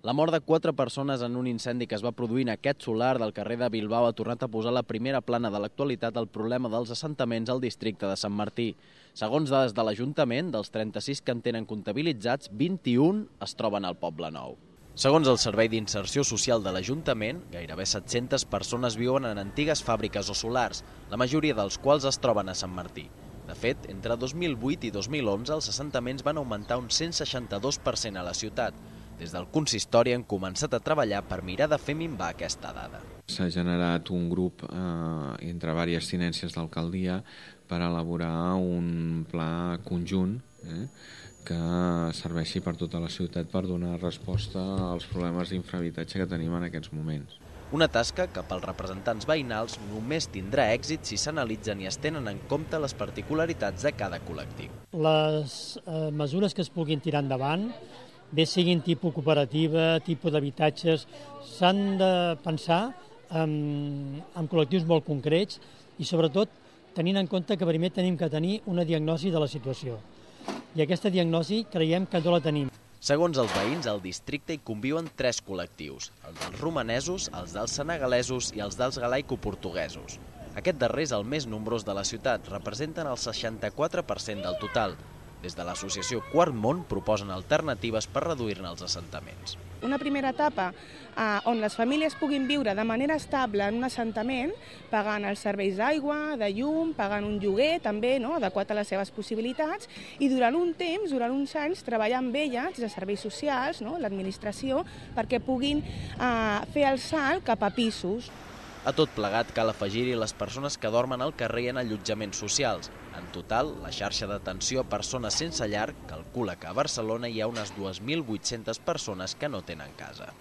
La mort de 4 persones en un incendi que es va produir en aquest solar del carrer de Bilbao ha tornat a posar a la primera plana de l'actualitat el problema dels assentaments al districte de Sant Martí. Segons dades de l'Ajuntament, dels 36 que en tenen comptabilitzats, 21 es troben al Poble Nou. Segons el Servei d'Inserció Social de l'Ajuntament, gairebé 700 persones viuen en antigues fàbriques o solars, la majoria dels quals es troben a Sant Martí. De fet, entre 2008 i 2011 els assentaments van augmentar un 162% a la ciutat. Des del consistori han començat a treballar per mirar de fer minvar aquesta dada. S'ha generat un grup entre diverses tinències d'alcaldia per elaborar un pla conjunt que serveixi per tota la ciutat per donar resposta als problemes d'infrahabitatge que tenim en aquests moments. Una tasca que pels representants veïnals només tindrà èxit si s'analitzen i es tenen en compte les particularitats de cada col·lectiu. Les mesures que es puguin tirar endavant, bé siguin tipus cooperativa, tipus d'habitatges, s'han de pensar en col·lectius molt concrets i sobretot tenint en compte que primer tenim que tenir una diagnosi de la situació. I aquesta diagnosi creiem que no la tenim. Segons els veïns, al districte hi conviuen 3 col·lectius, els dels romanesos, els dels senegalesos i els dels galaico-portuguesos. Aquest darrer és el més nombrós de la ciutat, representen el 64% del total. Des de l'associació Quart Món proposen alternatives per reduir-ne els assentaments. Una primera etapa on les famílies puguin viure de manera estable en un assentament, pagant els serveis d'aigua, de llum, pagant un lloguer també adequat a les seves possibilitats i durant un temps, durant uns anys, treballar amb elles, des de serveis socials, l'administració, perquè puguin fer el salt cap a pisos. A tot plegat cal afegir-hi les persones que dormen al carrer en allotjaments socials. En total, la xarxa d'atenció a persones sense llar calcula que a Barcelona hi ha unes 2.800 persones que no tenen casa.